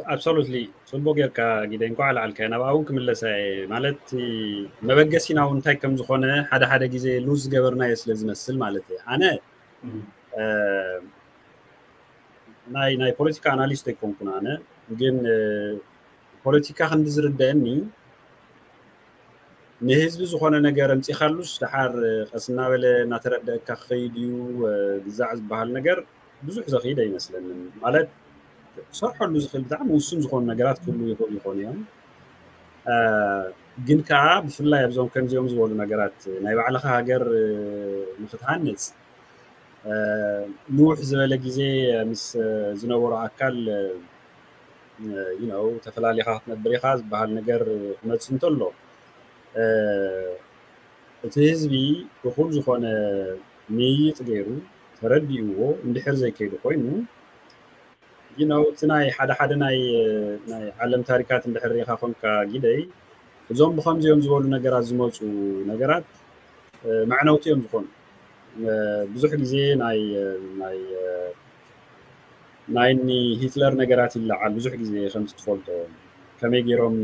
Absolutely፣ ጽቡቅ ጌርካ ጊደ፣ እንኳዕ ለዓልካዮ። ናብኣ እውን ክምለሳ እየ። ማለት፣ መበገሲና እውን እንታይ ከም ዝኾነ ሓደ ሓደ ግዜ ሉዝ ዝገበርናዮ ስለ ዝመስል ማለት እየ። ኣነ ናይ ናይ ፖለቲካ ኣናሊስት ኣይኮንኩን። ኣነ ግን ፖለቲካ ክንዲ ዝርደአኒ፣ ንህዝቢ ዝኾነ ነገር ኣምጺኻሉስ ደሓር ቀስ እናበለ እናተረደአካ ክኸይድ እዩ። ግዛዕ ዝበሃል ነገር ብዙሕ ዘኽይድ ኣይመስለንን። ማለት፣ ክሰርሐሉ ዝኽእል ብጣዕሚ ውሱን ዝኾኑ ነገራት ክህሉ ይኽእሉ ይኾኑ እዮም። ግን ከዓ ብፍላይ ኣብዞም ከምዚኦም ዝበሉ ነገራት ናይ ባዕልኻ ሃገር ንክትሃንፅ ንውሕ ዝበለ ግዜ ምስ ዝነበሮ ኣካል፣ you know፣ ተፈላሊኻ ክትነብር ኢኻ ዝበሃል ነገር ክመፅእ እንተሎ፣ እቲ ህዝቢ እኹል ዝኾነ ምይይጥ ገይሩ ተረዲእዎ እንድሕር ዘይከይዱ ኮይኑ፣ you know፣ እቲ ናይ ሓደ ሓደ ናይ ናይ ዓለም ታሪካት እንድሕር ርኢኻ ኮንካ ጊደይ፣ እዞም ብኸምዚኦም ዝበሉ ነገራት ዝመፁ ነገራት መዕነውቲ እዮም ዝኾኑ። ብዙሕ ግዜ ናይ ናይ ናይ ኒ ሂትለር ነገራት ይለዓል። ብዙሕ ግዜ ከምዚ ትፈልጦ፣ ከመይ ገይሮም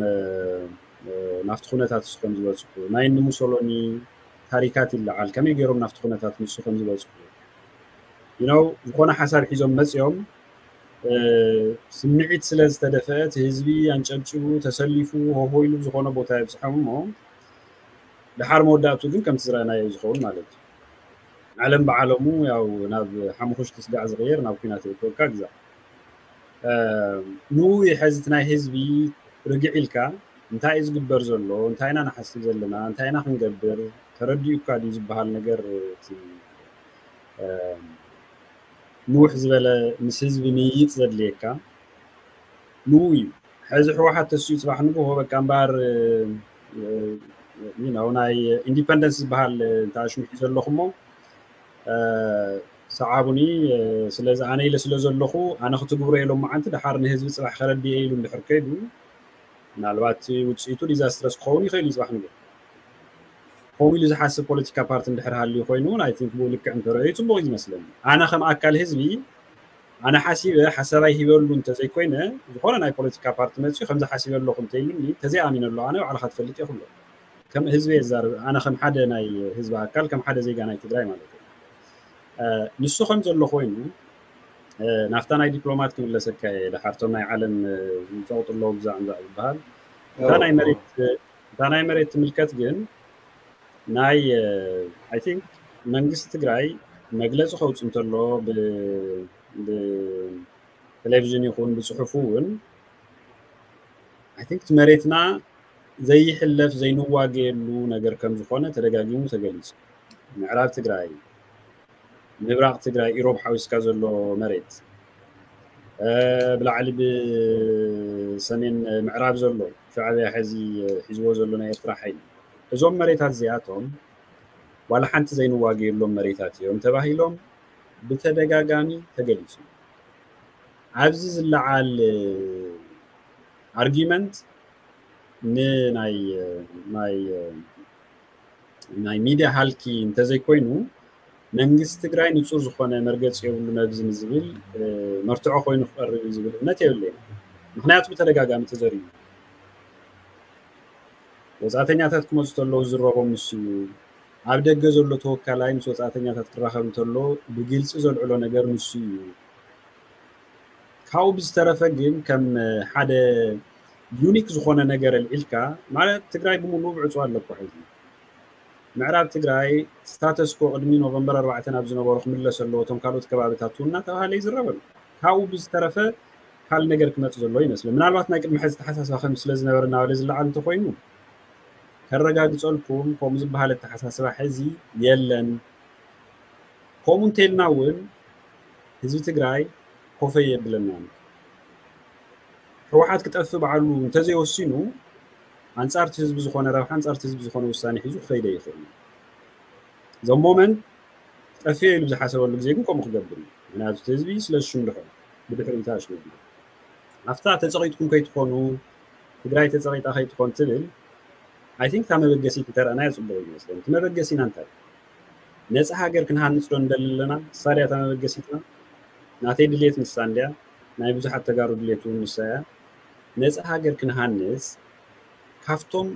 ናብቲ ኩነታት ንሱ ከም ዝበፅሑ፣ ናይ ኒ ሙሶሎኒ ታሪካት ይለዓል፣ ከመይ ገይሮም ናብቲ ኩነታት ንሱ ከም ዝበፅሑ። You know፣ ዝኾነ ሓሳብ ሒዞም መፅዮም፣ ስምዒት ስለ ዝተደፈአ እቲ ህዝቢ ኣንጨብጭቡ፣ ተሰሊፉ፣ ሆሆ ኢሉ ዝኾነ ቦታ የብፅሖም እሞ፣ ደሓር መወዳእቱ ግን ከምቲ ዝረኣናዮ ዝኸውን ማለት እዩ። ዓለም ብዓለሙ ያው ናብ ሓሙኽሽቲ ስጋዕ ዝቕየር ናብ ኲናት የእትወካ ግዛዕ። ንኡ ይሐዚ እቲ ናይ ህዝቢ ርግዕ ኢልካ እንታይ እዩ ዝግበር ዘሎ፣ እንታይ ኢና ንሓስብ ዘለና፣ እንታይ ኢና ክንገብር፣ ተረዲኡካ ድዩ ዝበሃል ነገር፣ እቲ ንውሕ ዝበለ ምስ ህዝቢ ምይይጥ ዘድልየካ ንኡ እዩ። ሕዚ ህወሓት ተስኡ ፅባሕ ንግሆ በቃ እምበኣር፣ you know፣ ናይ ኢንዲፐንደንስ ዝበሃል እንተ ኣሽሚሑ ዘለኹሞ፣ ሰዓቡኒ፣ ስለዚ ኣነ ኢለ ስለ ዘለኹ ኣነ ክትግብሮ ኢሎም መዓንቲ ደሓር ንህዝቢ ፅባሕ ከረድየ ኢሉ እንድሕር ከይዱ፣ ምናልባት ውፅኢቱ ዲዛስትረስ ክኸውን ይኽእል እዩ። ፅባሕ ንግሆ ከምኡ ኢሉ ዝሓስብ ፖለቲካ ፓርቲ እንድሕር ሃልዩ ኮይኑ እውን፣ I think፣ ብኡ ልክዕ እንተረኣዩ ፅቡቕ እዩ ዝመስለኒ። ኣነ ከም ኣካል ህዝቢ ኣነ ሓሲበ ሓሳባይ ሂበሉ እንተዘይኮይነ፣ ዝኾነ ናይ ፖለቲካ ፓርቲ መፅዩ ከምዚ ሓሲበ ኣለኹ እንተኢሉኒ፣ ተዘይኣሚነሉ ኣነ ባዕልኻ ትፈልጥ እየ ክብሎ። ከም ህዝቢ እየ ዝዛረብ፣ ኣነ ከም ሓደ ናይ ህዝቢ ኣካል፣ ከም ሓደ ዜጋ ናይ ትግራይ ማለት እዩ። ንሱ ከም ዘሎ ኮይኑ፣ ናፍታ ናይ ዲፕሎማት ክምለሰካ እየ። ደሓር እቶም ናይ ዓለም ዝፀቕጡ ኣለዉ ብዛዕ ምዛዕ ዝበሃል፣ እታ ናይ መሬት እታ ናይ መሬት ትምልከት ግን፣ ናይ I think መንግስቲ ትግራይ መግለፂ ከውፅእ እንተሎ፣ ብቴሌቪዥን ይኹን ብፅሑፉ እውን፣ I think እቲ መሬትና ዘይሕለፍ ዘይንዋገየሉ ነገር ከም ዝኾነ ተደጋጊሙ ተገሊፁ። ምዕራብ ትግራይ፣ ምብራቕ ትግራይ፣ ኢሮብ ሓዊስካ ዘሎ መሬት፣ ብላዕሊ ብሰሜን ምዕራብ ዘሎ ሻዕብያ ሕዚ ሒዝዎ ዘሎ ናይ ኤርትራ ሓይሊ፣ እዞም መሬታት እዚኣቶም ዋላ ሓንቲ ዘይንዋገየሎም መሬታት እዮም ተባሂሎም ብተደጋጋሚ ተገሊፁ። ኣብዚ ዝለዓል ኣርጊመንት ንናይ ናይ ናይ ሚድያ ሃልኪ እንተዘይኮይኑ፣ መንግስቲ ትግራይ ንፁር ዝኾነ መርገፂ የብሉ ነብዚ ንዝብል መርትዖ ኮይኑ ክቐርብ እዩ ዝብል እምነት የብለይን። ምክንያቱ ብተደጋጋሚ ተዘሪቡ። ወፃእተኛታት ክመፁ ተለዉ ዝረቦም ንሱ እዩ። ኣብ ደገ ዘሎ ተወካላይ ምስ ወፃእተኛታት ክራኸብ እንተሎ ብግልፂ ዘልዕሎ ነገር ንሱ እዩ። ካብኡ ብዝተረፈ ግን ከም ሓደ ዩኒክ ዝኾነ ነገር ኣልዒልካ፣ ማለት ትግራይ ብምሉኡ ብዕፁ ኣለኩ ሕዚ። ምዕራብ ትግራይ ስታተስኮ ቅድሚ ኖቨምበር ኣርባዕተ ናብ ዝነበሮ ክምለስ ኣለዎ፣ እቶም ካልኦት ከባብታት እውን እናተባሃለ ይዝረበሉ። ካብኡ ብዝተረፈ ካልእ ነገር ክመፅእ ዘለዎ ይመስለኒ። ምናልባት ናይ ቅድሚ ሕዚ ተሓሳስባ ከም ስለ ዝነበረ እናበለ ዝለዓል እንተኮይኑ ከረጋግፀልኩም፣ ከምኡ ዝበሃል ኣተሓሳስባ ሕዚ የለን። ከምኡ እንተኢልና እውን ህዝቢ ትግራይ ኮፈይ የብለናን። ህወሓት ክጠፍእ ባዕሉ እንተዘይወሲኑ ኣንፃርቲ ህዝቢ ዝኾነ ረብሓ ኣንፃርቲ ህዝቢ ዝኾነ ውሳኔ ሒዙ ክኸይደ ይኽእል እዩ። ዘ ሞመንት ጠፍኤ ኢሉ ዝሓሰበሉ ግዜ ግን ከምኡ ክገብር እዩ። ምክንያቱ እቲ ህዝቢ ስለ ዝሽንድሖ ብድሕሪኡ ተኣሽሚሉ ኣብታ ተፀቒጥኩም ከይትኾኑ ትግራይ ተፀቒጣ ከይትኾን ትብል I think እታ መበገሲት እንተረእናያ ፅቡቅ ይመስለኒ። እቲ መበገሲና እንታይ ነፃ ሃገር ክንሃንፅ ዶ ንደሊ ኣለና? እሳ ድያ እታ መበገሲትና። ናተይ ድልየት ንሳ እንድያ። ናይ ብዙሓት ተጋሩ ድልየት እውን ንሳ እያ። ነፃ ሃገር ክንሃንፅ ካብቶም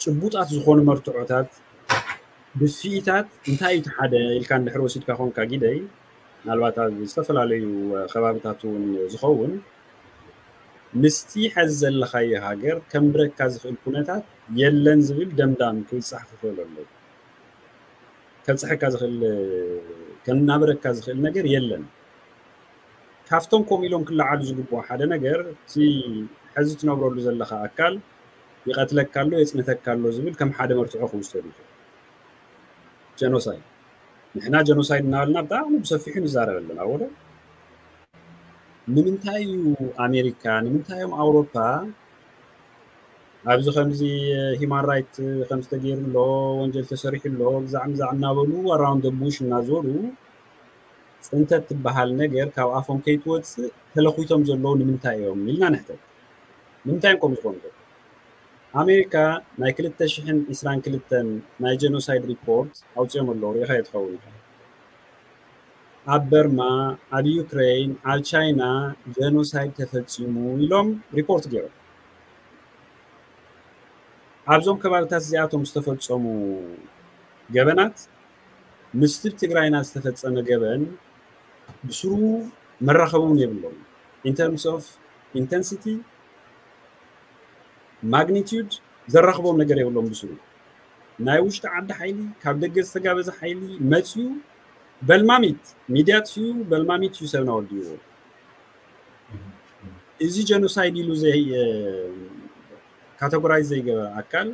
ጭቡጣት ዝኾኑ መርትዖታት ብፍኢታት እንታይ እዩ እቲ ሓደ ኢልካ እንድሕር ወሲድካ ኮንካ ጊደይ፣ ምናልባት ኣብ ዝተፈላለዩ ከባብታት እውን ዝኸውን ምስቲ ሐዚ ዘለኻዮ ሃገር ከምብረካ ዝኽእል ኩነታት የለን ዝብል ደምዳም ክብፃሕ ክኽእል ኣለዎ። ከብፅሐካ ዝኽእል ከናብረካ ዝኽእል ነገር የለን። ካብቶም ከምኡ ኢሎም ክለዓሉ ዝግብኦ ሓደ ነገር እቲ ሐዚ ትነብረሉ ዘለኻ ኣካል ይቐትለካ ኣሎ የፅንተካ ኣሎ ዝብል ከም ሓደ መርትዖ ክውሰድ ይኽእል። ጀኖሳይድ ንሕና ጀኖሳይድ እናበልና ብጣዕሚ ብሰፊሑ ንዛረብ ኣለና ወደ ንምንታይ እዩ ኣሜሪካ ንምንታይ እዮም ኣውሮፓ ኣብዚ ከምዚ ሂማን ራይት ከምዚ ተገይሩ ኣሎ ወንጀል ተሰሪሑ ኣሎ ግዛዕ ምዛዕ እናበሉ ኣራውንድ ቡሽ እናዞሩ ፅንተት ትበሃል ነገር ካብ ኣፎም ከይትወፅእ ተለኪቶም ዘለዉ ንምንታይ እዮም ኢልና ንሕተት። ንምንታይ እዮም ከምኡ ዝኾኑ ዘለዉ? ኣሜሪካ ናይ ክልተ ሽሕን ዕስራን ክልተን ናይ ጀኖሳይድ ሪፖርት ኣውፂኦም ኣለዉ ርኢኻዮ ትኸውን ኢኻ። ኣብ በርማ፣ ኣብ ዩክሬን፣ ኣብ ቻይና ጀኖሳይድ ተፈፂሙ ኢሎም ሪፖርት ገይሮም። ኣብዞም ከባብታት እዚኣቶም ዝተፈፀሙ ገበናት ምስቲ ትግራይና ዝተፈፀመ ገበን ብስሩ መራኸቢ እውን የብሎም። In terms of intensity, magnitude ዘራኽቦም ነገር የብሎም ብስሩ። ናይ ውሽጢ ዓዲ ሓይሊ ካብ ደገ ዝተጋበዘ ሓይሊ መፅዩ በልማሚት ሚድያ ፅዩ በልማሚት እዩ ሰብና ወዲዎ። እዚ ጀኖሳይድ ኢሉ ዘይ ካተጎራይዝ ዘይገበረ ኣካል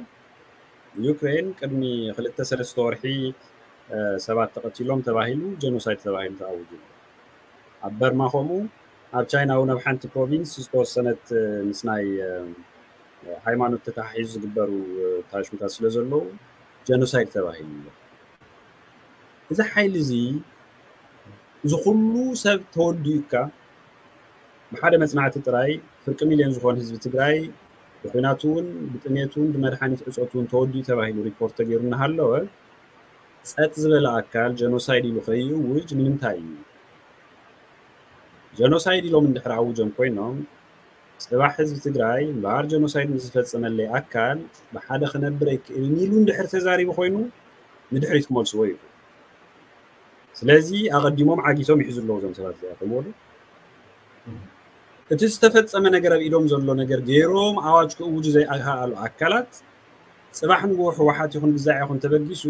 ዩክሬን ቅድሚ ክልተ ሰለስተ ወርሒ ሰባት ተቐቲሎም ተባሂሉ ጀኖሳይድ ተባሂሉ ተኣውጁ። ኣብ በርማ ከምኡ ኣብ ቻይና እውን ኣብ ሓንቲ ፕሮቪንስ ዝተወሰነት ምስ ናይ ሃይማኖት ተተሓሒዙ ዝግበሩ ታሽምታት ስለ ዘለዉ ጀኖሳይድ ተባሂሉ ኣሎ። እዚ ሓይሊ እዚ እዚ ኩሉ ሰብ ተወዲኡካ ብሓደ መፅናዕቲ ጥራይ ፍርቂ ሚልዮን ዝኾን ህዝቢ ትግራይ ብኩናት እውን ብጥሜት እውን ብመድሓኒት ዕፆት እውን ተወዲኡ ተባሂሉ ሪፖርት ተገይሩ እናሃለወ ፀጥ ዝበለ ኣካል ጀኖሳይድ ኢሉ ከይእውጅ ንምንታይ እዩ? ጀኖሳይድ ኢሎም እንድሕር ኣውጆም ኮይኖም ፅባሕ ህዝቢ ትግራይ እምበኣር ጀኖሳይድ ንዝፈፀመለይ ኣካል ብሓደ ክነብር ኣይክእልን ኢሉ እንድሕር ተዛሪቡ ኮይኑ ንድሕሪት ክመልስዎ እዩ። ስለዚ ኣቐዲሞም ዓጊቶም ይሕዙ ኣለዉ እዞም ሰባት እዚኣቶም ወሉ እቲ ዝተፈፀመ ነገር ኣብ ኢዶም ዘሎ ነገር ገይሮም ኣዋጅ ክእውጁ ዘይኣኸኣሉ ኣካላት ፅባሕ ንግሆ ህወሓት ይኹን ግዛዕ ይኹን ተበጊሱ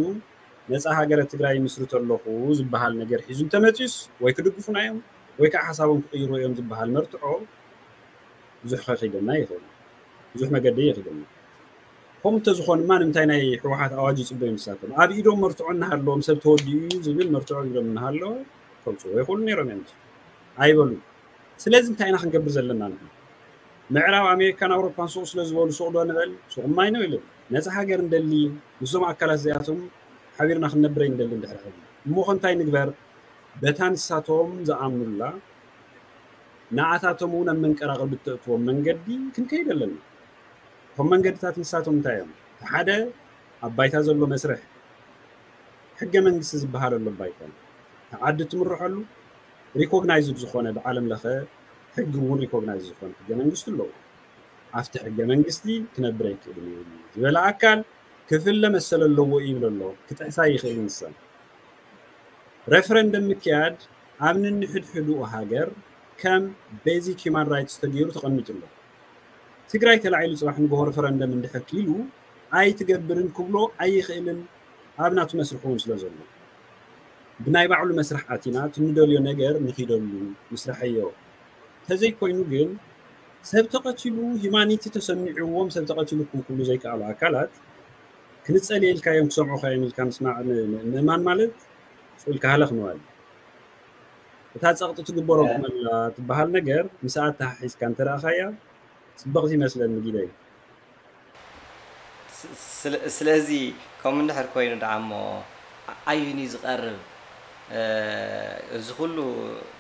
ነፃ ሃገረ ትግራይ ይምስርት ኣለኹ ዝበሃል ነገር ሒዙ እንተመፅዩስ ወይ ክድግፉና እዮም ወይ ከዓ ሓሳቦም ክቕይሩ እዮም ዝበሃል መርትዖ ብዙሕ ከኺደና ይኽእል ብዙሕ መገዲ ይኽደና። ከምኡ እንተዝኾንማ ንምንታይ ናይ ህወሓት ኣዋጅ ይፅበዩ ንሳቶም? ኣብ ኢዶም መርትዖ እናሃለዎም ሰብ ተወዲኡ እዩ ዝብል መርትዖ ኣብ ኢዶም እናሃለወ ከምፅዎ ይኽእሉ ነይሮም እዮም። ኣይበሉ። ስለዚ እንታይ ኢና ክንገብር ዘለና ንሕና? ምዕራብ ኣሜሪካን ኣውሮፓን ሱቕ ስለ ዝበሉ ሱቕ ዶ ንበል? ሱቕ ማይ ነው ኢሉ ነፃ ሃገር እንደሊ ምስዞም ኣካላት እዚኣቶም ሓቢርና ክንነብረ እንደሊ እንድሕር ሕዚ እሞ ከ እንታይ ንግበር? በታ ንሳቶም ዝኣምኑላ ንኣታቶም እውን ኣብ መንቀራቕር ብተእትዎም መንገዲ ክንከይድ ኣለና። እቶም መንገድታት ንሳቶም እንታይ እዮም? እቲ ሓደ ኣብ ባይታ ዘሎ መስርሕ ሕገ መንግስቲ ዝበሃል ኣሎ ባይታ ዓዲ ትምርሐሉ ሪኮግናይዝድ ዝኾነ ብዓለም ለኸ ሕጊ እውን ሪኮግናይዝ ዝኾነ ሕገ መንግስቲ ኣለዎ። ኣብቲ ሕገ መንግስቲ ክነብር ኣይክእልን እዩ ዝበለ ኣካል ክፍለ መሰል ኣለዎ ይብል ኣሎ። ክጥሕሳ ይኽእል ንሳ። ሬፈረንደም ምክያድ ኣብ ንንሕድሕድኡ ሃገር ከም ቤዚክ ሂማን ራይትስ ተገይሩ ተቐሚጡ ኣሎ። ትግራይ ተላዒሉ ፅባሕ ንግሆ ሬፈረንደም እንድሕር ክኢሉ ኣይትገብርን ክብሎ ኣይኽእልን ኣብ ናቱ መስርሕ እውን ስለ ዘሎ ብናይ ባዕሉ መስርሕ ኣቲና ትንደልዮ ነገር ንኺደሉ ምስርሐዮ ተዘይኮይኑ ግን ሰብ ተቐቲሉ ሂማኒቲ ተሰሚዕዎም ሰብ ተቐቲሉ ክም ክብሉ ዘይከኣሉ ኣካላት ክንፀል የልካዮም ክሰምዑ ካዮም ኢልካ ምስማዕ ምእማን ማለት ስኢልካ ሃለኽ ምባል እታ ፀቕጢ ትግበሮ ክመላ ትበሃል ነገር ምስኣ ተሓሒዝካ እንተረኣኻያ ፅብቕቲ ይመስለኒ ጊደይ። ስለዚ ከምኡ እንድሕር ኮይኑ ደኣ እሞ ኣዩን እዩ ዝቐርብ? እዚ ኩሉ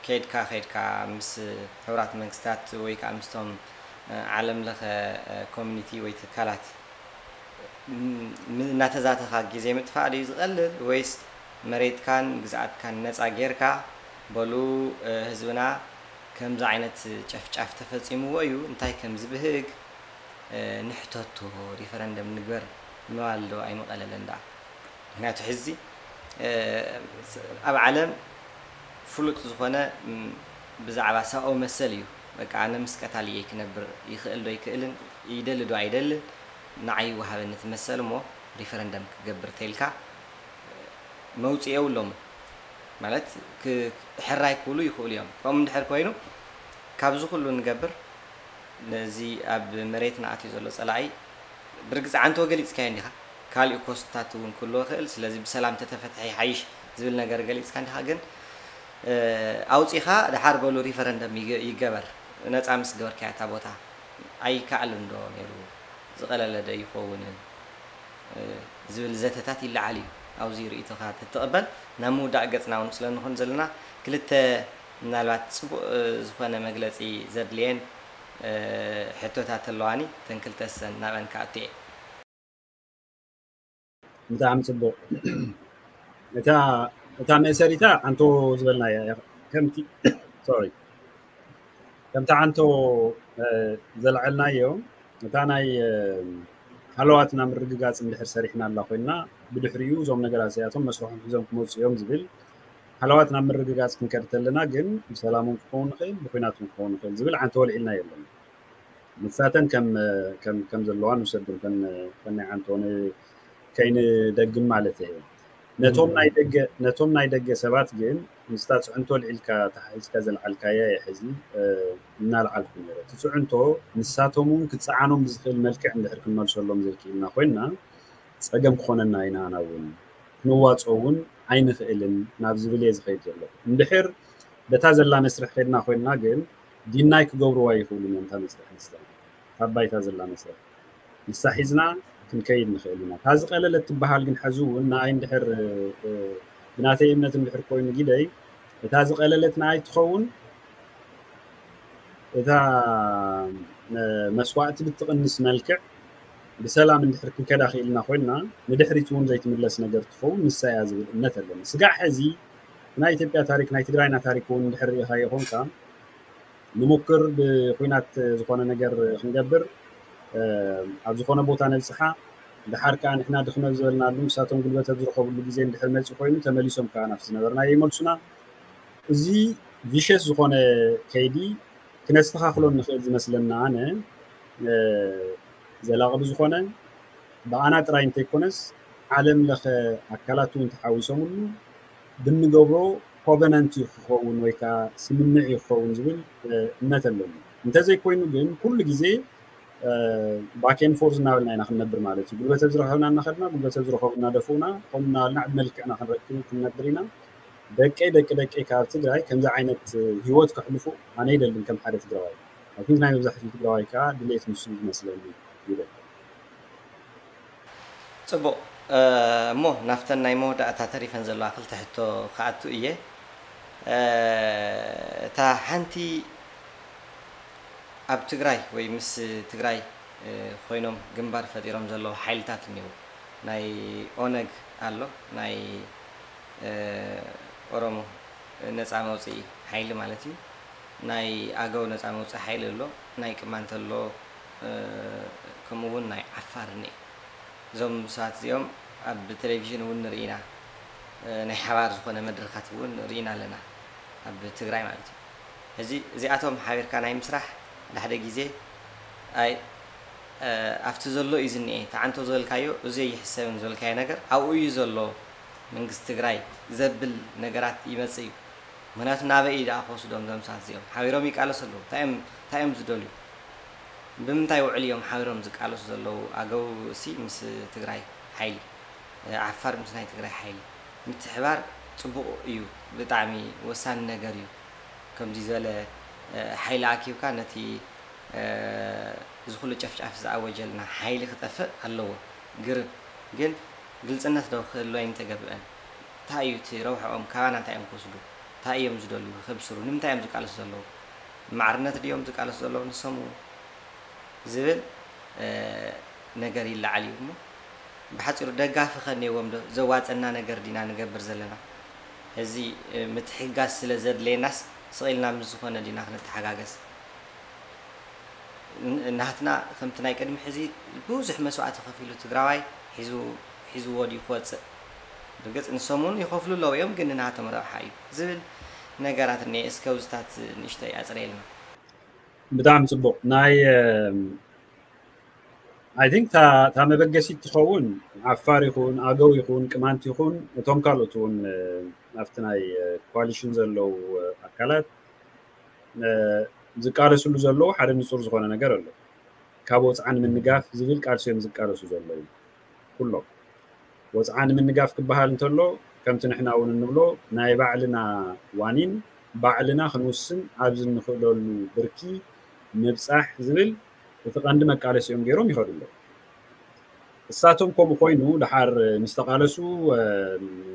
ከይድካ ከይድካ ምስ ሕቡራት መንግስታት ወይ ከዓ ምስቶም ዓለም ለኸ ኮሚኒቲ ወይ ትካላት እናተዛተኻ ግዜ ምጥፋእ ድዩ ዝቐልል ወይስ መሬትካን ግዝኣትካን ነፃ ጌርካ በሉ ህዝብና ከምዚ ዓይነት ጨፍጫፍ ተፈጺምዎ እዩ፣ እንታይ ከም ዝብህግ፣ እ፣ ንሕተቶ፣ ሪፈረንደም ንግበር ምባል ዶ ኣይምቐለለን ደኣ? ምኽንያቱ ሕዚ፣ እ፣ ስ-፣ ኣብ ዓለም ፍሉጥ ዝኾነ፣ ም፣ ብዛዕባ ሰብኣዊ መሰል እዩ። በቃ ኣነ ምስ ቀታልየይ ክነብር ይኽእል ዶ ኣይክእልን፣ ይደሊ ዶ ኣይደልን፣ ንዓይ ይወሃበኒ እቲ መሰል እሞ ሪፈረንደም ክገብር ተይልካ መውጽኢ የብሎምን። ማለት ክ-፣ ሕራይ ክብሉ ይኽእሉ እዮም። ከምኡ እንድሕር ኮይኑ፣ ካብዚ ኩሉ ንገብር፣ ነዚ ኣብ መሬትና ኣትዩ ዘሎ ጸላኢ ብርግጽ ዓንቶ ገሊጽካዮ እንዲኻ። ካልእ ኮስትታት እውን ክህልዎ ይኽእል። ስለዚ ብሰላም ተተፈትሐ ይሓይሽ ዝብል ነገር ገሊጽካ እንዲኻ። ግን፣ እ፣ ኣውጺኻ ደሓር በሉ ሪፈረንደም ይገ-፣ ይገበር። ነጻ ምስ ገበርካያ እታ ቦታ ኣይከኣልን ዶ ነይሩ? ዝቐለለ ዶ ይኸውን? እ፣ ዝብል ዘተታት ይለዓል እዩ። ኣብዚ ርእይቶኻ ተትቕበል፣ ናብ ምውዳእ ገጽና እውን ስለ ንኾን ዘለና፣ ክልተ ምናልባት ጽቡቕ፣ እ፣ ዝኾነ መግለጺ ዘድልየን፣ እ፣ ሕቶታት ኣለዋኒ። እተን ክልተ ሰን ናበን ክኣቱ እየ። ብጣዕሚ ጽቡቕ። እታ፣ እታ መእሰሪታ ዓንቶ ዝበልናያ እያ። ከምቲ፣ ሶሪ፣ ከምቲ ዓንቶ፣ እ፣ ዘልዓልናዮ፣ እታ ናይ፣ እ፣ ሃለዋትና ምርግጋጽ እንድሕር ሰሪሕናላ ኮይና፣ ብድሕሪኡ እዞም ነገራት እዚኣቶም መስርሖም ሒዞም ክመጹ እዮም ዝብል ሃለዋትና ምርግጋጽ ክንከድ ተለና ግን ብሰላም እውን ክኸውን ይኽእል፣ ብኲናት እውን ክኸውን ይኽእል ዝብል ዓንቶ ወልዒልና የለን። ንሳተን ከም፣ ከም፣ ከም ዘለዋ ንውሰድ፣ ከም፣ ከም ናይ ዓንቶ ን-፣ ከይንደግም ማለት እዩ። ነቶም ናይ ደገ፣ ነቶም ናይ ደገ ሰባት ግን ምስታ ጽዕንቶ ልዒልካ ተሓሒዝካ ዘልዓልካያ እየ ሕዚ፣ እ፣ እናልዓልኩ ነይረ። እቲ ጽዕንቶ ንሳቶም እውን ክጸዓኖም ብዝኽእል መልክዕ እንድሕር ክንመልሰሎም ዘይክኢልና ኮይንና፣ ጸገም ክኾነና ኢና፣ ኣና እውን ክንዋጾ እውን ኣይንኽእልን ናብ ዝብል እየ ዝኸይድ ዘለኹ። እንድሕር በታ ዘላ መስርሕ ከድና ኮይንና ግን ዲናይ ክገብርዋ ይኽእሉን እዮም እታ መስርሕ ንሳ፣ እታ ባይታ ዘላ መስርሕ ንሳ ሒዝና ክንከይድ ንኽእል ኢና። እታ ዝቐለለት ትበሃል ግን ሕዚ እውን ንኣይ እንድሕር፣ እ፣ ብናተይ እምነት እንድሕር ኮይኑ ጊደይ እታ ዝቐለለት ንኣይ ትኸውን እታ፣ እ፣ መስዋእቲ ብትቕንስ መልክዕ ብሰላም እንድሕር ክንከዳ ክኢልና ኮይንና ንድሕሪት እውን ዘይትምለስ ነገር ትኸውን ንሳ እያ ዝብል እምነት ኣለኒ። ስጋዕ ሕዚ ናይ ኢትዮጵያ ታሪክ፣ ናይ ትግራይና ታሪክ እውን እንድሕር ርኢኻዮ ኾንካ ንሙክር ብኹናት ዝኾነ ነገር ክንገብር፣ እ፣ ኣብ ዝኾነ ቦታ ነብጽሓ፣ ደሓር ከኣ ንሕና ድኽመ ዝበልናሉ ንሳቶም ጉልበት ኣብ ዝረኸብሉ ግዜ እንድሕር መጺኡ ኮይኑ ተመሊሶም ከኣ ናብቲ ዝነበርናዮ ይመልሱና። እዚ ቪሸስ ዝኾነ ከይዲ ክነስተኻኽሎ እንኽእል ዝመስለና ኣነ፣ እ፣ ዘላቒ ብዝኾነ ብኣና ጥራይ እንተይኮነስ ዓለም ለኸ ኣካላት እውን ተሓዊሶምሉ ብንገብሮ ኮቨነንት እዩ ክኸውን ወይ ከዓ ስምምዕ እዩ ክኸውን ዝብል፣ እ፣ እምነት ኣለኒ። እንተዘይኮይኑ ግን ኩሉ ግዜ፣ እ፣ ባክ ኤንድ ፎርዝ እናበልና ኢና ክንነብር ማለት እዩ። ጉልበት ኣብ ዝረኸብና እናኸድና፣ ጉልበት ኣብ ዝረኸቡ እናደፍኡና፣ ከምኡ እናበልና ዕድመ ልክዕና ክንረክብ ክንነብር ኢና። ደቀይ ደቂ ደቀይ ካብ ትግራይ ከምዚ ዓይነት ህይወት ከሕልፉ ኣነ ይደልን ከም ሓደ ትግራዋይ። ኣይ ቲንክ ናይ መብዛሕትኡ ትግራዋይ ከዓ ድሌት ንሱ እዩ ዝመስለኒ ይብል። ጽቡቕ፣ እ፣ እሞ ናብተን ናይ መወዳእታ ተሪፈን ዘለዋ ክልተ ሕቶ ክኣቱ እየ። እ፣ እታ ሓንቲ ኣብ ትግራይ ወይ ምስ ትግራይ፣ እ፣ ኮይኖም ግንባር ፈጢሮም ዘለዉ ሓይልታት እኒዉ። ናይ ኦነግ ኣሎ፣ ናይ፣ እ፣ ኦሮሞ ነጻ መውጽኢ ሓይሊ ማለት እዩ። ናይ ኣገው ነጻ መውጽኢ ሓይሊ ኣሎ፣ ናይ ቅማንት ኣሎ፣ እ፣ ከምኡ እውን ናይ ዓፋር እኒኤ። እዞም ሰባት እዚኦም ኣብ ቴሌቪዥን እውን ንርኢ ኢና፣ እ፣ ናይ ሓባር ዝኾነ መድረኻት እውን ርኢና ኣለና፣ ኣብ ትግራይ ማለት እዩ። ሕዚ እዚኣቶም ሓቢርካ ናይ ምስራሕ ሓደ ሓደ ግዜ ኣይ፣ እ፣ ኣብቲ ዘሎ እዩ ዝኒኤ፣ ተዓንቶ ዝበልካዮ እዚ ኣይሕሰብን ዝበልካዮ ነገር ኣብኡ እዩ ዘሎ፣ መንግስቲ ትግራይ ዘብል ነገራት ይመጽእ እዩ። ምኽንያቱ ናበይ እዩ ደኣ ክወስዶም እዞም ሰባት እዚኦም? ሓቢሮም ይቃለሱ ኣለዉ። እንታይ እዮም፣ እንታይ እዮም ዝደልዩ? ብምንታይ ውዕል እዮም ሓቢሮም ዝቃለሱ ዘለዉ? ኣገው እሲ ምስ ትግራይ ሓይሊ፣ ዓፋር ምስ ናይ ትግራይ ሓይሊ ምትሕባር ጽቡቕ እዩ፣ ብጣዕሚ ወሳኒ ነገር እዩ። ከምዚ ዝበለ፣ እ፣ ሓይሊ ኣኪብካ ነቲ፣ እ፣ እዚ ኩሉ ጨፍጫፍ ዝኣወጀልና ሓይሊ ክጠፍእ ኣለዎ። ግርም ግን ግልጽነት ዶ ክህሉ ኣይምተገብአን? እንታይ እዩ እቲ ረብሕኦም? ካባና እንታይ እዮም ክወስዱ? እንታይ እዮም ዝደልዩ? ክብስሩ? ንምንታይ እዮም ዝቃለሱ ዘለዉ? ማዕርነት ድዮም ዝቃለሱ ዘለዉ ንሶም እውን? ዝብል፣ እ፣ ነገር ይለዓል እዩ እሞ፣ ብሓጺሩ ደጋፊ ከ እኒኦዎም ዶ? ዘዋጸና ነገር ዲና ንገብር ዘለና? እዚ፣ እ፣ ምትሕግጋዝ ስለ ዘድልየናስ ስቕ ኢልና ምስ ዝኾነ ዲና ክንተሓጋገዝ? ን-፣ ናትና ከምቲ ናይ ቅድሚ ሕዚ ብዙሕ መስዋእቲ ከፊሉ ትግራዋይ ሒዙ፣ ሒዝዎ ድዩ ክወፅእ? ብርግፅ ንሶም እውን ይኸፍሉ ኣለዉ እዮም፣ ግን ንናቶም ረብሓ እዩ ዝብል ነገራት እኒአ። እስከ ኣብዚታት ንእሽተይ ኣፅረየልና። ብጣዕሚ ፅቡቕ። ናይ I think እታ መበገሲት ትኸውን ዓፋር ይኹን ኣገው ይኹን ቅማንት ይኹን እቶም ካልኦት እውን ኣብቲ ናይ ኮሊሽን ዘለዉ ኣካላት ዝቃለስሉ ዘለዉ ሓደ ንፁር ዝኾነ ነገር ኣሎ። ካብ ወፅዓ ንምንጋፍ ዝብል ቃልሲ እዮም ዝቃለሱ ዘለዉ ኩሎም። ወፅዓ ንምንጋፍ ክበሃል እንተሎ ከምቲ ንሕና እውን እንብሎ ናይ ባዕልና ዋኒን ባዕልና ክንውስን ኣብዚ እንኽእለሉ ብርኪ ምብፃሕ ዝብል እቲ ቀንዲ መቃለሲኦም ገይሮም ይኸዱ ኣለዉ። እሳቶም ከምኡ ኮይኑ ደሓር ምስ ተቓለሱ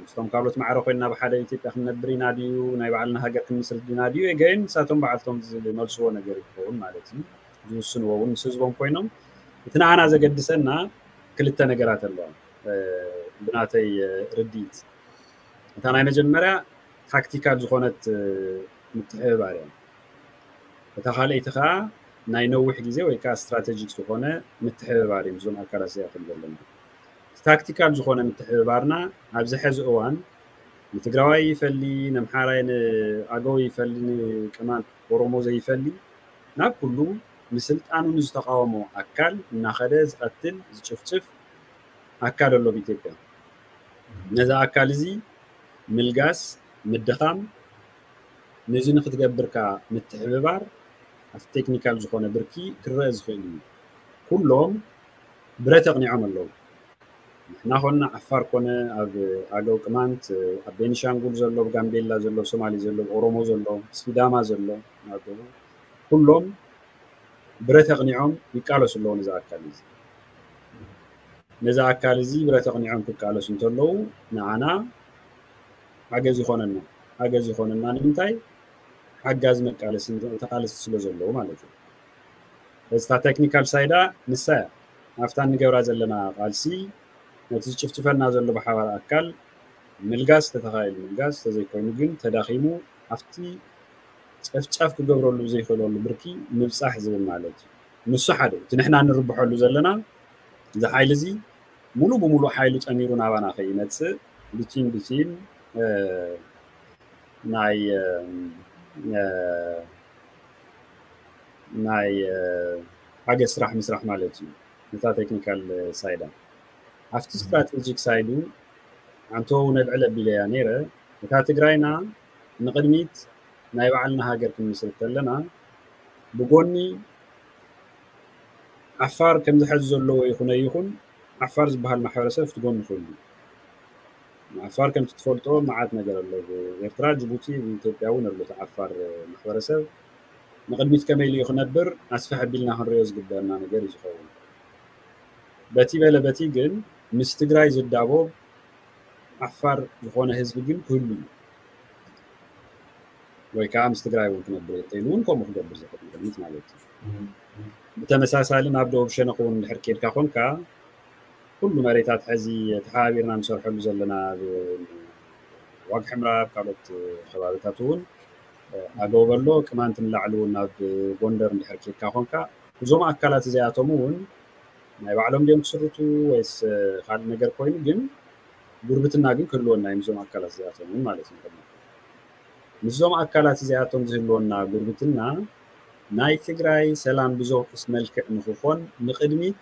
ምስቶም ካልኦት ማዕረ ኮይንና ብሓደ ኢትዮጵያ ክንነብር ኢና ድዩ ናይ ባዕልና ሃገር ክንምስርት ዲና ድዩ again ንሳቶም ባዕልቶም ዝመልስዎ ነገር ይኸውን ማለት እዩ። ዝውስንዎ እውን ምስ ህዝቦም ኮይኖም እቲ ንዓና ዘገድሰና ክልተ ነገራት ኣለዋ ብናተይ ርድኢት። እታ ናይ መጀመርያ ታክቲካል ዝኾነት ምትሕብባር እያ። እታ ካልኣይቲ ከዓ ናይ ነዊሕ ግዜ ወይ ከዓ ስትራቴጂክ ዝኾነ ምትሕብባር እዩ ምስዞም ኣካላት እዚኣቶም ዘለና። ታክቲካል ዝኾነ ምትሕብባርና ኣብዚ ሐዚ እዋን ንትግራዋይ ይፈሊ፣ ነምሓራይ ንኣገው ይፈሊ፣ ንቅማንት ኦሮሞ ዘይፈሊ ናብ ኩሉ ንስልጣኑ ንዝተቃወሞ ኣካል እናኸደ ዝቐትል ዝጭፍጭፍ ኣካል ኣሎ ኣብ ኢትዮጵያ። ነዚ ኣካል እዚ ምልጋስ፣ ምድኻም፣ ነዚ ንክትገብር ከዓ ምትሕብባር ኣብቲ ቴክኒካል ዝኾነ ብርኪ ክረአ ዝኽእል እዩ። ኩሎም ብረት ኣቕኒዖም ኣለዉ። ንሕና ኮና ዓፋር ኮነ ኣብ ኣገው ቅማንት ኣብ ቤኒሻንጉል ዘሎ ኣብ ጋምቤላ ዘሎ ኣብ ሶማሌ ዘሎ ኣብ ኦሮሞ ዘሎ ሲዳማ ዘሎ ኩሎም ብረት ኣቕኒዖም ይቃለሱ ኣለዉ ነዚ ኣካል እዚ። ነዚ ኣካል እዚ ብረት ኣቕኒዖም ክቃለሱ እንተለዉ ንዓና ሓገዝ ይኾነና። ሓገዝ ይኾነና ንምንታይ? ሓጋዚ መቃለሲ ተቃለስቲ ስለ ዘለዉ ማለት እዩ። እዚታ ቴክኒካል ሳይዳ ንሳ እያ። ኣብታ እንገብራ ዘለና ቃልሲ ነቲ ዝጭፍጭፈና ዘሎ ብሓባር ኣካል ምልጋስ ተተኻኢሉ ምልጋስ ተዘይኮይኑ ግን ተዳኺሙ ኣብቲ ጨፍጫፍ ክገብረሉ ዘይኽእለሉ ብርኪ ምብፃሕ ዝብል ማለት እዩ። ንሱ ሓደ እቲ ንሕና እንርብሐሉ ዘለና እዚ ሓይሊ እዚ ሙሉ ብሙሉ ሓይሉ ጠሚሩ ናባና ከይመፅእ ብቲም ብቲም ናይ ናይ ሓገዝ ስራሕ ምስራሕ ማለት እዩ። ነታ ቴክኒካል ሳይዳ ኣብቲ ስትራቴጂክ ሳይዱ ኣንተው ነልዕል ኣቢለያ ነይረ እታ ትግራይና ንቕድሚት ናይ ባዕልና ሃገር ክንምስርት ከለና ብጎኒ ዓፋር ከምዚ ሐዚ ዘለዎ ይኹነ ይኹን ዓፋር ዝበሃል ማሕበረሰብ ኣብቲ ጎኒ ክህሉ ዓፋር ከምቲ ትፈልጦ መዓት ነገር ኣሎ። ኤርትራ፣ ጅቡቲ፣ ኢትዮጵያ እውን ኣሎ። ዓፋር ማሕበረሰብ ንቅድሚት ከመይ ኢሉ ክነብር ኣስፍሕ ኣቢልና ክንሪኦ ዝግበአና ነገር እዩ ዝኸውን። በቲ በለ በቲ ግን ምስ ትግራይ ዝዳቦብ ዓፋር ዝኾነ ህዝቢ ግን ክህሉ እዩ። ወይ ከዓ ምስ ትግራይ እውን ክነብር እንተኢሉ እውን ከምኡ ክገብር ዝኽእል ቅድሚት ማለት እዩ። ብተመሳሳሊ ናብ ደቡብ ሸነኽ እውን እንድሕር ኬድካ ኮንካ ኩሉ መሬታት ሕዚ ተሓባቢርና ንሰርሐሉ ዘለና ኣብ ዋግ ሕምራ ኣብ ካልኦት ከባቢታት እውን ኣገው በሎ ቅማንት ንላዕሊ እውን ናብ ጎንደር እንድሕር ኬድካ ኮንካ እዞም ኣካላት እዚኣቶም እውን ናይ ባዕሎም ድዮም ክስርቱ ወይስ ካልእ ነገር ኮይኑ ግን ጉርብትና ግን ክህልወና እዩ ምስዞም ኣካላት እዚኣቶም እውን ማለት እዩ። ምስዞም ኣካላት እዚኣቶም ዝህልወና ጉርብትና ናይ ትግራይ ሰላም ብዘውሕስ መልክዕ ንክኾን ንቅድሚት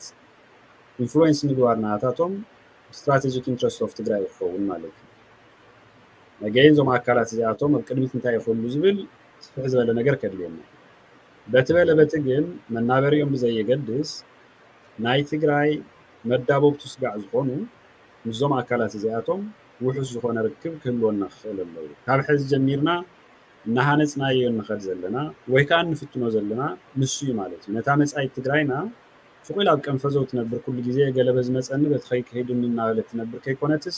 ኢንፍሉዌንስ ምግባር ናታቶም ስትራቴጂክ ኢንትረስት ኦፍ ትግራይ ክኸውን ማለት እዩ። ነገይን እዞም ኣካላት እዚኣቶም ኣብ ቅድሚት እንታይ ይኽእሉ ዝብል ስፍሕ ዝበለ ነገር ከድልየና። በቲ በለ በቲ ግን መናበሪኦም ብዘየገድስ ናይ ትግራይ መዳበብቱ ስጋዕ ዝኾኑ ምስዞም ኣካላት እዚኣቶም ውሑስ ዝኾነ ርክብ ክህልወና ክኽእል ኣለዎ። ካብ ሕዚ ጀሚርና እናሃነፅናዮ ንኸድ ዘለና ወይ ከዓ እንፍትኖ ዘለና ንሱ እዩ ማለት እዩ። ነታ መፃኢት ትግራይና ስቕ ኢላ ኣብ ቀንፈዘው ትነብር ኩሉ ግዜ ገለበ ዝመፀኒ በቲ ከይከይዱኒ እናበለት ትነብር ከይኮነትስ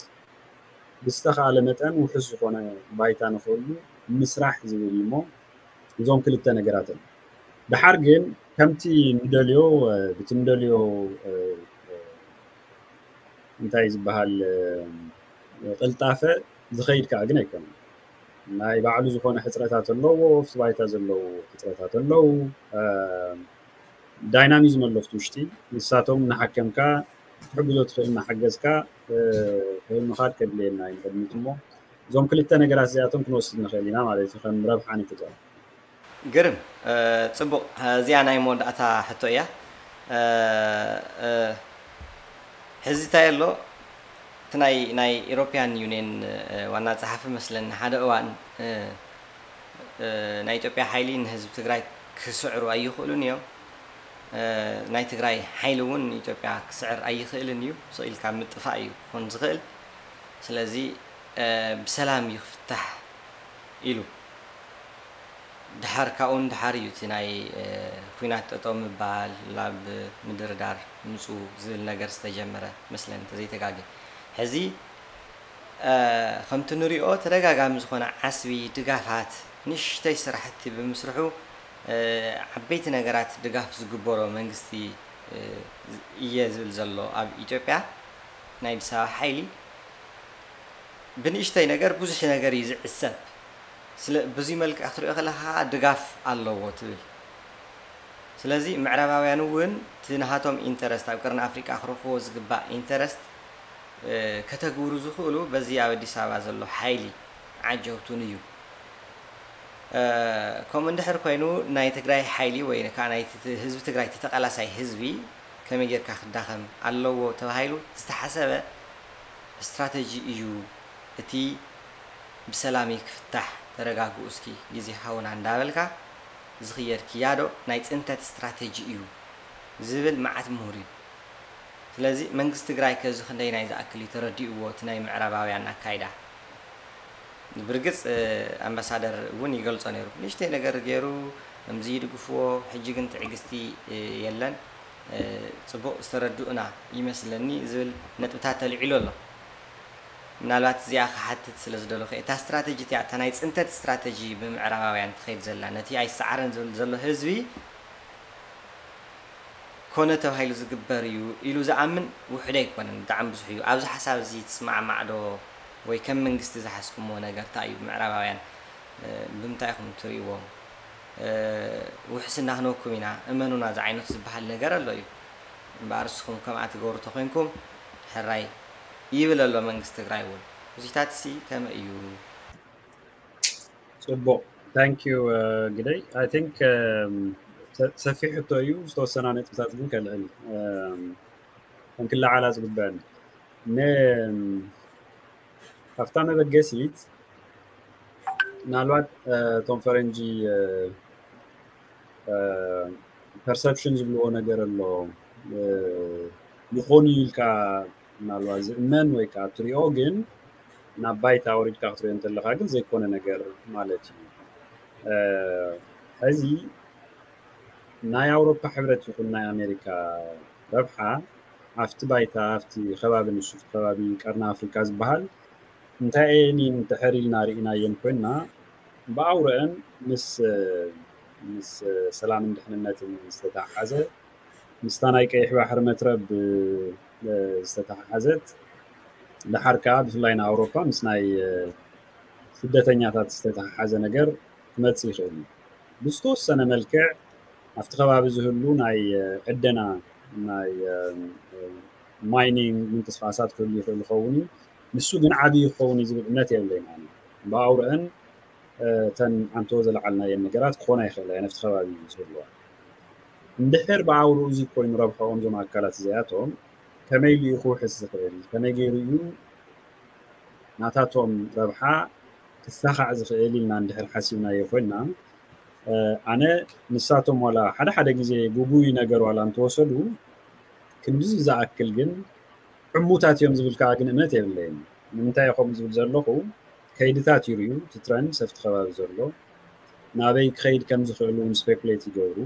ብዝተኻእለ መጠን ውሑስ ዝኾነ ባይታ ንኽህሉ ምስራሕ ዝብል እዩ እሞ እዞም ክልተ ነገራት እዮም። ደሓር ግን ከምቲ ንደልዮ ብቲ ንደልዮ እንታይ ዝበሃል ቅልጣፈ ዝኸይድ ከዓ ግን ኣይኮነን። ናይ ባዕሉ ዝኾነ ሕፅረታት ኣለዎ፣ ኣብቲ ባይታ ዘለዉ ሕፅረታት ኣለዉ። ዳይናሚዝም ኣሎ ኣብቲ ውሽጢ፣ ንሳቶም እናሓከምካ ክትሕግዞ ትኽእል እናሓገዝካ ምኻድ ከድልየና እዩ ንቅድሚት። እሞ እዞም ክልተ ነገራት እዚኣቶም ክንወስድ ንኽእል ኢና ማለት እዩ፣ ከም ረብሓ ንጥቅም። ግርም፣ ፅቡቕ። እዚኣ ናይ መወዳእታ ሕቶ እያ። ሕዚ እንታይ ኣሎ፣ እቲ ናይ ናይ ኢሮፒያን ዩኒየን ዋና ፀሓፊ መስለኒ ሓደ እዋን ናይ ኢትዮጵያ ሓይሊ ንህዝቢ ትግራይ ክስዕሩ ኣይኽእሉን እዮም፣ ናይ ትግራይ ሓይሊ እውን ንኢትዮጵያ ክስዕር ኣይኽእልን እዩ፣ ስቕ ኢልካ ምጥፋእ እዩ ክኾን ዝኽእል። ስለዚ ብሰላም እዩ ክፍታሕ ኢሉ። ድሓር ካብኡ ንድሓር እዩ እቲ ናይ ኲናት ጠጠው ምባል፣ ላብ ምድርዳር ምፁ ዝብል ነገር ዝተጀመረ መስለኒ እንተዘይተጋግየ። ሕዚ ከምቲ ንሪኦ ተደጋጋሚ ዝኾነ ዓስቢ ድጋፋት፣ ንሽተይ ስራሕቲ ብምስርሑ ዓበይቲ ነገራት ድጋፍ ዝግበሮ መንግስቲ እየ ዝብል ዘሎ ኣብ ኢትዮጵያ ናይ ኣዲስ ኣበባ ሓይሊ ብንእሽተይ ነገር ብዙሕ ነገር እዩ ዝዕሰብ። ስለ ብዙይ መልክዕ ክትሪኦ ከለካ ድጋፍ ኣለዎ ትብል። ስለዚ ምዕራባውያን እውን እቲ ናሃቶም ኢንተረስት ኣብ ቅርኒ ኣፍሪቃ ክረኽቦ ዝግባእ ኢንተረስት ከተግብሩ ዝኽእሉ በዚ ኣብ ኣዲስ ኣበባ ዘሎ ሓይሊ ዓጀውቱን እዩ። ከምኡ እንድሕር ኮይኑ ናይ ትግራይ ሓይሊ ወይ ከዓ ናይ ህዝቢ ትግራይ ተተቃላሳይ ህዝቢ ከመይ ጌርካ ክዳኸም ኣለዎ ተባሂሉ ዝተሓሰበ ስትራተጂ እዩ። እቲ ብሰላም ክፍታሕ ተረጋግኡ እስኪ ግዜ ሃውና እንዳበልካ ዝኽየድ ክያዶ ናይ ፅንተት ስትራተጂ እዩ ዝብል መዓት ምሁር እዩ። ስለዚ መንግስቲ ትግራይ ከዚ ክንደይ ናይ ዝኣክል እዩ ተረዲእዎ እቲ ናይ ምዕራባውያን ኣካይዳ። ብርግፅ ኣምባሳደር እውን ይገልፆ ነይሩ። ንእሽተይ ነገር ገይሩ ከምዚ ይድግፍዎ፣ ሕጂ ግን ትዕግስቲ የለን፣ ፅቡቕ ዝተረድኡና ይመስለኒ ዝብል ነጥብታት ተልዒሉ ኣሎ። ምናልባት እዚኣ ክሓትት ስለ ዝደለኹ እታ ስትራተጂ እቲኣ እታ ናይ ፅንተት ስትራተጂ ብምዕራባውያን ትኸይድ ዘላ ነቲ ኣይሰዓረን ዝብል ዘሎ ህዝቢ ኮነ ተባሂሉ ዝግበር እዩ ኢሉ ዝኣምን ውሑድ ኣይኮነን፣ ብጣዕሚ ብዙሕ እዩ። ኣብዚ ሓሳብ እዚ ትስማዕማዕ ዶ ወይ ከም መንግስቲ ዝሓዝኩሞ ነገር እንታይ እዩ? ምዕራባውያን ብምንታይ ኢኹም ትርእይዎም? ውሕስና ክንወኩም ኢና እመኑና ዝዓይነቱ ዝበሃል ነገር ኣሎ እዩ። እምበኣር ንስኹም ከምኣ ትገብሩ ተኾይንኩም ሕራይ ይብል ኣሎ መንግስቲ ትግራይ እውን። እዚታት ሲ ከመይ እዩ? ፅቡቕ፣ thank you ግደይ። I think ሰፊሕ ሕቶ እዩ፣ ዝተወሰና ነጥብታት ግን ከልዕል ከም ክለዓላ ዝግበአኒ። ካብታ መበገሲት ምናልባት እቶም ፈረንጂ ፐርሰፕሽን ዝብልዎ ነገር ኣሎ። ይኾን እዩ ኢልካ ምናልባት ዝእመን ወይ ከዓ ትሪኦ፣ ግን ናብ ባይታ ወሪድካ ክትሪኦ እንተለካ ግን ዘይኮነ ነገር ማለት እዩ። ሕዚ ናይ ኣውሮፓ ሕብረት ይኹን ናይ ኣሜሪካ ረብሓ ኣብቲ ባይታ ኣብቲ ከባቢ ንሱ ከባቢ ቀርኒ ኣፍሪካ ዝበሃል እንታይ እየን እንድሕር ኢልና ርኢናየን ኮይና ብኣውርአን ምስ ምስ ሰላምን ድሕንነትን ዝተተሓሓዘ ምስታ ናይ ቀይሕ ባሕሪ መትረብ ዝተተሓሓዘት ድሓር ከዓ ብፍላይ ንኣውሮፓ ምስ ናይ ስደተኛታት ዝተተሓሓዘ ነገር ክመፅእ ይኽእል እዩ። ብዝተወሰነ መልክዕ ኣብቲ ከባቢ ዝህሉ ናይ ዕደና ናይ ማይኒንግ ምንቅስቃሳት ክህሉ ይኽእል ይኸውን እዩ። ንሱ ግን ዓብዪ ክኸውን እዩ ዝብል እምነት የብለይን ኣነ። ብኣውርአን እተን ኣንቶ ዘለዓልናየን ነገራት ክኾና ይኽእላ እየን ኣብቲ ከባቢ ዝህልዋ። እንድሕር ብኣውርኡ እዚ ኮይኑ ረብሐኦም እዞም ኣካላት እዚኣቶም ከመይ ኢሉ እዩ ክውሕስ ዝኽእል? ከመይ ገይሩ እዩ ናታቶም ረብሓ ክሳኻዕ ዝኽእል ኢልና እንድሕር ሓሲብናዮ ኮይና ኣነ ንሳቶም ዋላ ሓደ ሓደ ግዜ ጉጉይ ነገር ዋላ እንተወሰዱ ክንድዚ ዝኣክል ግን ዕሙታት እዮም ዝብል ከዓ ግን እምነት የብለይን። ንምንታይ ከምኡ ዝብል ዘለኹ ከይድታት ይርእዩ፣ እቲ ትረንድ ሰፍቲ ከባቢ ዘሎ ናበይ ክኸይድ ከም ዝኽእል እውን ስፔኩሌት ይገብሩ።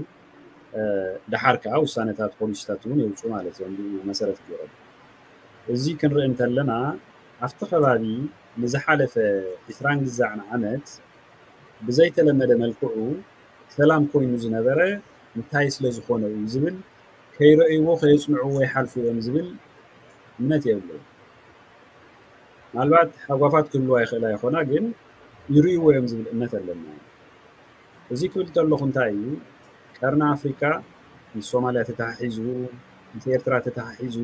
ደሓር ከዓ ውሳነታት ፖሊሲታት እውን የውፁ ማለት እዮም ብኡ መሰረት ገይሮም። እዚ ክንርኢ እንተለና ኣብቲ ከባቢ ንዝሓለፈ ዕስራን ግዛዕን ዓመት ብዘይተለመደ መልክዑ ሰላም ኮይኑ ዝነበረ እንታይ ስለ ዝኾነ እዩ ዝብል ከይረእይዎ ከየፅንዕዎ ይሓልፉ እዮም ዝብል እምነት የብለይን። ምናልባት ሃጓፋት ክህልዋ ይኽእላ ይኾና፣ ግን ይርእይዎ እዮም ዝብል እምነት ኣለና። እዚ ክብል ከለኹ እንታይ እዩ፣ ቀርኒ ኣፍሪካ ምስ ሶማልያ ተተሓሒዙ፣ ምስ ኤርትራ ተተሓሒዙ፣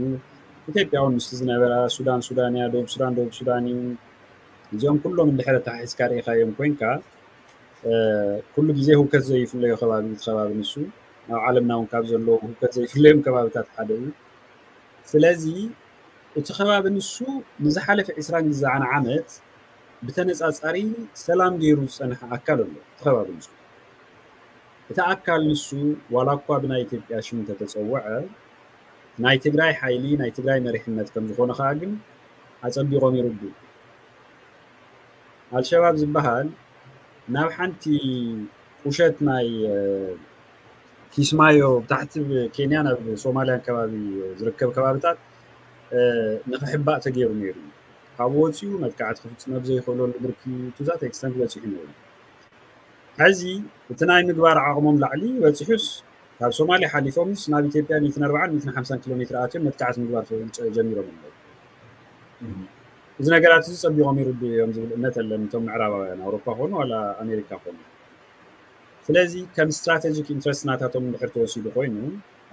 ኢትዮጵያ እውን ምስቲ ዝነበራ፣ ሱዳን ሱዳን እያ፣ ደቡብ ሱዳን ደቡብ ሱዳን እዩ። እዚኦም ኩሎም እንድሕር ተሓሒዝካ ርኢኻዮም ኮይንካ፣ ኩሉ ግዜ ህውከት ዘይፍለዮ ከባቢ እቲ ከባቢ ንሱ ኣብ ዓለምና እውን ካብ ዘለዉ ህውከት ዘይፍለዮም ከባብታት ሓደ እዩ። ስለዚ እቲ ከባቢ ንሱ ንዝሓለፈ ዕስራን ግዛዕን ዓመት ብተነፃፃሪ ሰላም ገይሩ ዝፀንሐ ኣካል ኣሎ። እቲ ከባቢ ንሱ እቲ ኣካል ንሱ ዋላ እኳ ብናይ ኢትዮጵያ ሽም እንተተፀወዐ ናይ ትግራይ ሓይሊ ናይ ትግራይ መሪሕነት ከም ዝኾነ ከዓ ግን ኣፀቢቖም ይርዱ። ኣልሸባብ ዝበሃል ናብ ሓንቲ ቁሸት ናይ ኪስማዮ ብታሕቲ ኬንያ ናብ ሶማልያን ከባቢ ዝርከብ ከባብታት ንክሕባእ ተገይሩ ነይሩ። ካብኡ ወፂኡ መጥቃዕቲ ክፍፅም ኣብ ዘይክእለሉ ብርኪ ቱዛት ኤክስተንት በፂሑ ነይሩ። ሕዚ እቲ ናይ ምግባር ዓቕሞም ላዕሊ በፂሑስ ካብ ሶማልያ ሓሊፎምስ ናብ ኢትዮጵያ ሚእትን ኣርባዓን ሚእትን ሓምሳን ኪሎ ሜትር ኣትዮም መጥቃዕቲ ምግባር ጀሚሮም ኣለዉ። እዚ ነገራት እዚ ፀቢቖም ይርድኡ እዮም ዝብል እምነት ኣለን እቶም ምዕራባውያን ኣውሮፓ ኮኑ ዋላ ኣሜሪካ ኮኑ። ስለዚ ከም ስትራቴጂክ ኢንትረስት ናታቶም እንድሕር ተወሲዱ ኮይኑ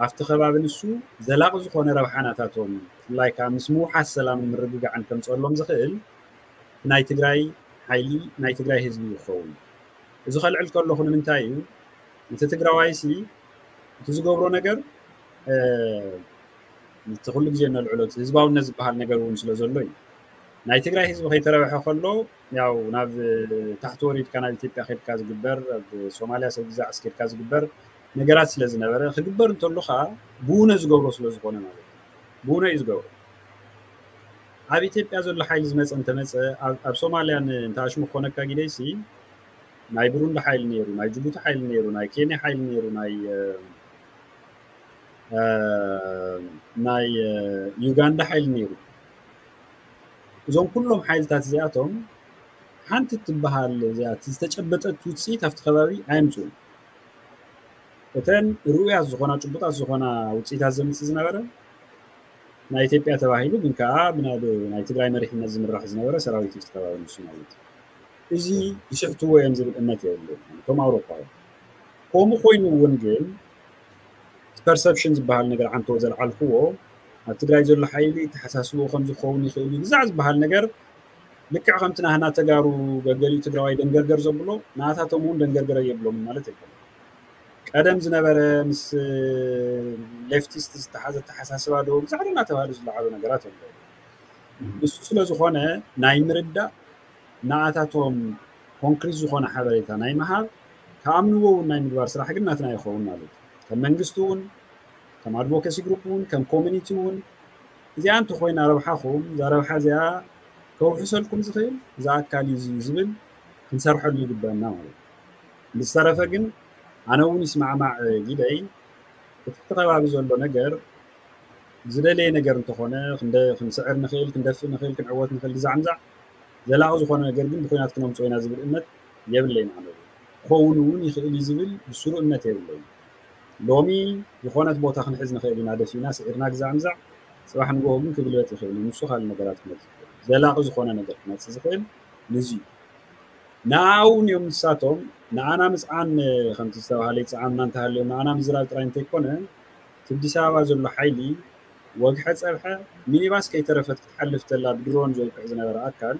ኣብቲ ከባቢ ንሱ ዘላቒ ዝኾነ ረብሓ ናታቶም ብፍላይ ከዓ ምስ ምውሓስ ሰላምን ምርግጋዕን ከምፅኣሎም ዝኽእል ናይ ትግራይ ሓይሊ ናይ ትግራይ ህዝቢ ይኸውን። እዚ ከልዕል ከለኹ ንምንታይ እዩ እቲ ትግራዋይሲ እቲ ዝገብሮ ነገር እቲ ኩሉ ግዜ እነልዕሎ እቲ ህዝባውነት ዝበሃል ነገር እውን ስለ ዘሎ እዩ። ናይ ትግራይ ህዝቢ ከይተረብሐ ከሎ ያው ናብ ታሕቲ ወሪድካ ናብ ኢትዮጵያ ከድካ ዝግበር ኣብ ሶማልያ ሰብ ግዛዕ እስከድካ ዝግበር ነገራት ስለ ዝነበረ ክግበር እንተሎ ከዓ ብውነ ዝገብሮ ስለ ዝኾነ ማለት እዩ። ብውነ እዩ ዝገብሮ። ኣብ ኢትዮጵያ ዘሎ ሓይሊ ዝመፀ እንተመፀ ኣብ ሶማልያ ንእንተኣሽሙ ክኾነካ ግደይሲ ናይ ብሩንዲ ሓይሊ ነይሩ፣ ናይ ጅቡቲ ሓይሊ ነይሩ፣ ናይ ኬንያ ሓይሊ ነይሩ፣ ናይ ናይ ዩጋንዳ ሓይሊ ነይሩ። እዞም ኩሎም ሓይልታት እዚኣቶም ሓንቲ ትበሃል እዚኣ ዝተጨበጠት ውፅኢት ኣብቲ ከባቢ ኣየምፅኡን። እተን ርኡያት ዝኾና ጭቡጣት ዝኾና ውፅኢታት ዘምፅእ ዝነበረ ናይ ኢትዮጵያ ተባሂሉ ግን ከዓ ብናብ ናይ ትግራይ መሪሕነት ዝምራሕ ዝነበረ ሰራዊት እዩ ዝተባባሪ ንሱ ማለት እዩ። እዚ ይስሕትዎ እዮም ዝብል እምነት የብሉ እቶም ኣውሮፓውያን። ከምኡ ኮይኑ እውን ግን ፐርሰፕሽን ዝበሃል ነገር ዓንቶ ዘልዓልክዎ ኣብ ትግራይ ዘሎ ሓይሊ ተሓሳስቦ ከም ዝኸውን ይኽእል እዩ ግዛዕ ዝበሃል ነገር ልክዕ ከምቲ ናህና ተጋሩ ገገሊኡ ትግራዋይ ደንገርገር ዘብሎ ንኣታቶም እውን ደንገርገረ የብሎም ማለት የብሎም። ቀደም ዝነበረ ምስ ሌፍቲስት ዝተሓዘ ተሓሳስባ ዶ ብዛዕባ እናተባሃሉ ዝለዓሉ ነገራት ኣለዉ። ንሱ ስለ ዝኾነ ናይ ምርዳእ ንኣታቶም ኮንክሪት ዝኾነ ሓበሬታ ናይ ምሃብ ከኣምንዎ እውን ናይ ምግባር ስራሕ ግን ናትና ይኸውን ማለት እዩ። ከም መንግስቲ እውን ከም ኣድቮኬሲ ግሩፕ እውን ከም ኮሚኒቲ እውን እዚኣ እንተኮይና ረብሓኹም እዛ ረብሓ እዚኣ ከውሕሰልኩም ዝኽእል እዚ ኣካል እዩ ዝብል ክንሰርሐሉ ይግበአና ማለት እዩ። ብዝተረፈ ግን ኣነ እውን ይስማዕማዕ ጊደይ እቲ ከባቢ ዘሎ ነገር ዝደለየ ነገር እንተኾነ ክንስዕር ንኽእል ክንደፍእ ንኽእል ክንዕወት ንኽእል ግዛዕ ምዛዕ ዘላቒ ዝኾነ ነገር ግን ብኩናት ክነምፅኦ ኢና ዝብል እምነት የብለይን። ኣነ ክኸውን እውን ይኽእል እዩ ዝብል ብስሩ እምነት የብለይን። ሎሚ ዝኾነት ቦታ ክንሕዝ ንኽእል ኢና ደፊእና ስዒርና ግዛዕ ምዛዕ ፅባሕ ንግሆ ግን ክግልበጥ ይኽእል እዩ። ንሱ ካልእ ነገራት ክመፅእ ይኽእል ዘላቒ ዝኾነ ነገር ክመፅእ ዝኽእል ንዚ እዩ። ንኣውን እዮም ንሳቶም ንኣና ምፅዓን ከምቲ ዝተባሃለ ይፅዓንና እንተሃልዮም ንኣና ምዝራብ ጥራይ እንተይኮነ እቲ ኣዲስ ኣበባ ዘሎ ሓይሊ ወግሐ ፀብሐ ሚኒባስ ከይተረፈት ክትሓልፍ ተላ ብድሮን ዘውቅዕ ዝነበረ ኣካል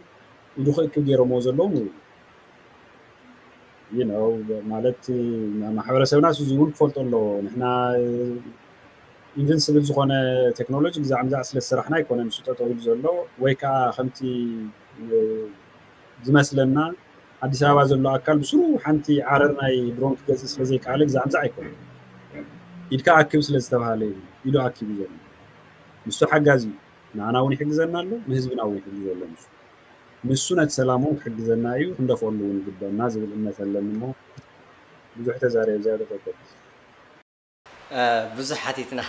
ኢዱ ክእክብ ገይሮምዎ ዘለዉ ንብሉ you know ማለት ማሕበረሰብና እዚ እውን ክፈልጦ ኣለዎ። ንሕና ኢንቨንስብል ዝኾነ ቴክኖሎጂ ግዛዕ ምዛዕ ስለ ዝሰራሕና ኣይኮነን ንሱ ጠጠው ኢሉ ዘሎ ወይ ከዓ ከምቲ ዝመስለና ኣዲስ ኣበባ ዘሎ ኣካል ብስሩ ሓንቲ ዓረር ናይ ድሮን ክገዝእ ስለ ዘይከኣለ ግዛዕ ምዛዕ ኣይኮነን። ኢድካ ኣክብ ስለ ዝተባሃለ እዩ ኢዱ ኣኪቡ ዘሎ። ንሱ ሓጋዚ እዩ። ንኣና እውን ይሕግዘና ኣሎ፣ ንህዝብና እውን ይሕግዞ ኣሎ። ንሱ ንሱ ነቲ ሰላም እውን ክሕግዘና እዩ፣ ክንደፍኦሉ እውን ይግበአና ዝብል እምነት ኣለኒ እሞ ብዙሕ ተዛሪበ ዝያዳ ጠቀም ብዙሕ ሓቲትና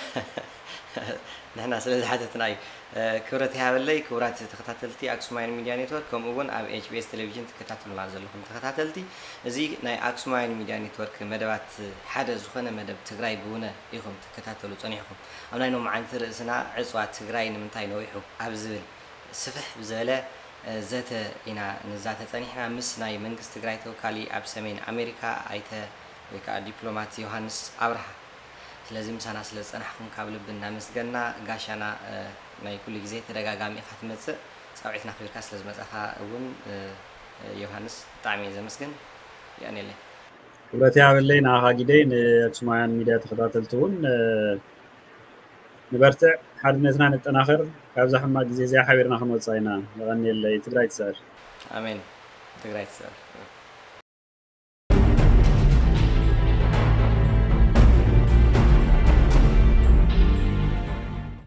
ንሕና ስለ ዝሓተትና እዩ። ክብረት ይሃበለይ ክቡራት ተኸታተልቲ ኣክሱማይን ሚድያ ኔትወርክ፣ ከምኡ እውን ኣብ ኤች ቢ ኤስ ቴሌቪዥን ትከታተሉና ዘለኹም ተኸታተልቲ፣ እዚ ናይ ኣክሱማይን ሚድያ ኔትወርክ መደባት ሓደ ዝኾነ መደብ ትግራይ ብውነ ኢኹም ትከታተሉ ጸኒሕኩም። ኣብ ናይ ሎማዓንቲ ርእስና ዕፅዋ ትግራይ ንምንታይ ነዊሑ ኣብ ዝብል ስፍሕ ብዝበለ ዘተ ኢና ንዛተ ጸኒሕና ምስ ናይ መንግስቲ ትግራይ ተወካሊ ኣብ ሰሜን ኣሜሪካ ኣይተ ወይ ከዓ ዲፕሎማት ዮሃንስ ኣብርሃ። ስለዚ ምሳና ስለ ዝጸናሕኩም ካብ ልቢ እናመስገና፣ ጋሻና ናይ ኩሉ ግዜ ተደጋጋሚ ኢኻ ትመጽእ፣ ጻውዒትና ክብርካ ስለ ዝመጻኻ እውን ዮሃንስ ብጣዕሚ እየ ዘመስግን። የቀንየለይ። ክብረት ይሃበለይ ንኣኻ ጊደይ፣ ንኣክሱማውያን ሚድያ ተኸታተልቲ እውን ንበርትዕ፣ ሓድነትና ነጠናኽር። ካብዛ ሕማቅ ግዜ እዚኣ ሓቢርና ክንወፃ ኢና። የቐንየለይ። ትግራይ ትስዕር። ኣሜን። ትግራይ ትስዕር።